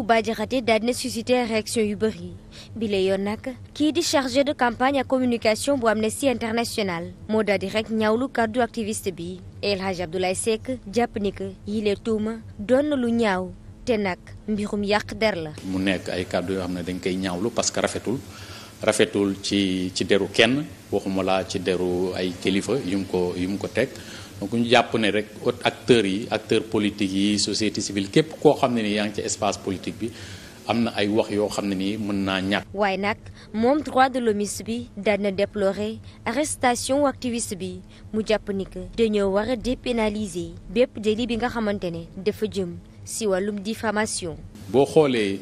Bah Diakhaté daal dina suscité réaction yu bëri bi la yoon nag kii di chargé de campagne ak communication bu Amnesty International moo daal di rek ñaawlu kàddu activiste bi El Hadj Abdoulaye Seck jàpp ni que yile tuuma doon na lu ñaaw te nag mbirum yàq der la. mu nekk ay kàddu yoo xam ne dañ koy ñaawlu parce que rafetul ci deru kenn waxuma laa ci deru ay kilifa yu mu ko teg. donc ñu jàpp ne rek acteurs politiques yi société civile képp koo xam ne ni yaa ngi ci espace politique bi am na ay wax yoo xam ne nii mën naa ñàkk. waaye nag moom droit de l'homme bi daan na déplorer arrestation activiste bi mu jàpp ni que dañoo war a dépénaliser bépp délit bi nga xamante ne dafa jëm si wàllum diffamation. boo xoolee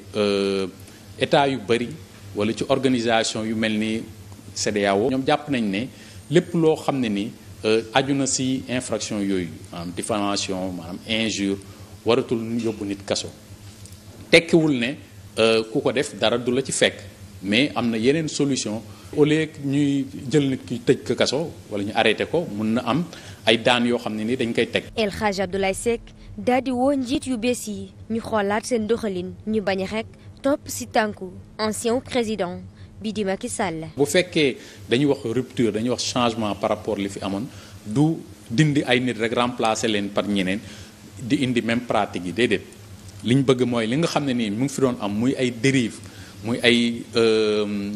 état yu bëri wala ci organisation yu mel ni CEDEAO ñoom jàpp nañ ne lépp loo xam ne ni. aju na ci infraction yooyu maanaam diffamation maanaam injure waratul yóbbu nit kaso tekkiwul ne ku ko def dara du la ci fekk mais am na yeneen solution au lieu ñuy jël nit ki tëj ko kaso wala ñu arrêté ko mun na am ay daan yoo xam ne ni dañ koy teg. El Hadj Abdoulaye Seck daal di woo njiit yu bees yi ñu xoolaat seen doxalin ñu bañ rek topp ci tànku ancien président bi di Macky Sall. bu fekkee dañuy wax rupture dañuy wax changement par rapport li fi amoon du dindi ay nit rek remplacer leen par ñeneen di indi même pratique yi déedéet li ñu bëgg mooy li nga xam ne nii mu ngi fi doon am muy ay dérive muy ay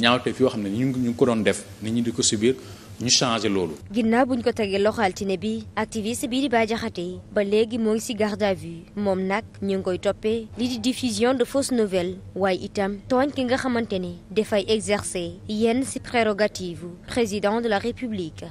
ñaawteef yoo xam ne ñu ngi ko doon def nit ñi di ko subir ñu changé loolu. ginnaaw buñ ko tegee loxo altine bi activiste bii di Bah Diakhaté ba léegi moo ngi ci garde à vue moom nag ñu ngi koy toppee li di diffusion de fausses nouvelles waaye itam tooñ ki nga xamante ne dafay exercer yenn ci prérogative président de la République.